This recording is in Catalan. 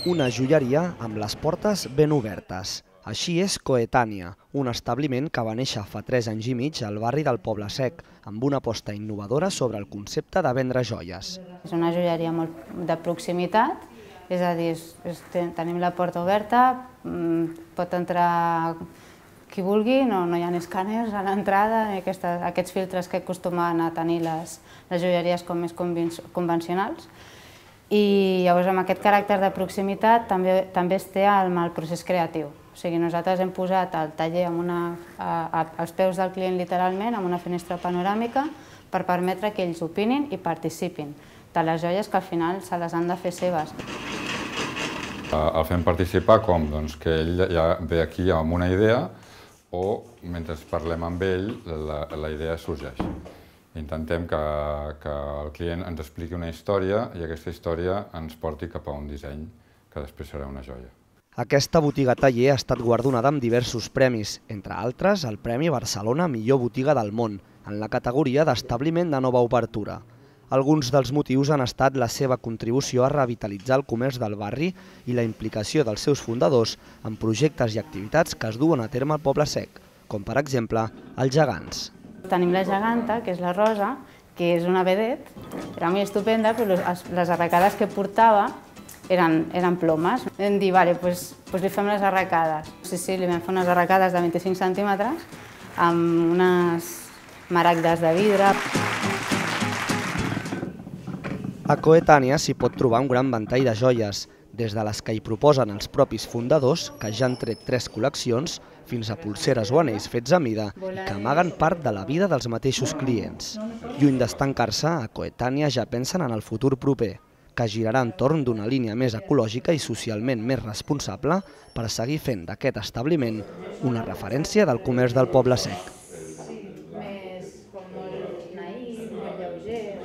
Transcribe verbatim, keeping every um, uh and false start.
Una joieria amb les portes ben obertes. Així és Coetània, un establiment que va néixer fa tres anys i mig al barri del Poble Sec, amb una aposta innovadora sobre el concepte de vendre joies. És una joieria molt de proximitat, és a dir, és, és, tenim la porta oberta, pot entrar qui vulgui, no, no hi ha escàners a l'entrada, aquests filtres que acostumen a tenir les, les joieries com més convencionals. I llavors amb aquest caràcter de proximitat també, també es té el, el procés creatiu. O sigui, nosaltres hem posat el taller amb una, a, a, als peus del client literalment, amb una finestra panoràmica, per permetre que ells opinin i participin de les joies que al final se les han de fer seves. El fem participar com? Doncs que ell ja ve aquí amb una idea o mentre parlem amb ell la, la idea sorgeix. Intentem que, que el client ens expliqui una història i aquesta història ens porti cap a un disseny que després serà una joia. Aquesta botiga taller ha estat guardonada amb diversos premis, entre altres el Premi Barcelona Millor Botiga del Món, en la categoria d'establiment de nova obertura. Alguns dels motius han estat la seva contribució a revitalitzar el comerç del barri i la implicació dels seus fundadors en projectes i activitats que es duen a terme al Poble Sec, com per exemple els gegants. Tenim la geganta, que és la Rosa, que és una vedet, era molt estupenda, però les arracades que portava eren, eren plomes. Vam dir, vale, pues, pues li fem les arracades. Sí, sí, li vam fer unes arracades de vint-i-cinc centímetres amb unes maragdes de vidre. A Coetània s'hi pot trobar un gran ventall de joies, des de les que hi proposen els propis fundadors, que ja han tret tres col·leccions, fins a pulseres o anells fets a mida i que amaguen part de la vida dels mateixos clients. Lluny d'estancar-se, a Coetània ja pensen en el futur proper, que girarà entorn d'una línia més ecològica i socialment més responsable per seguir fent d'aquest establiment una referència del comerç del Poble Sec. Més com molt naïf, molt lleuger.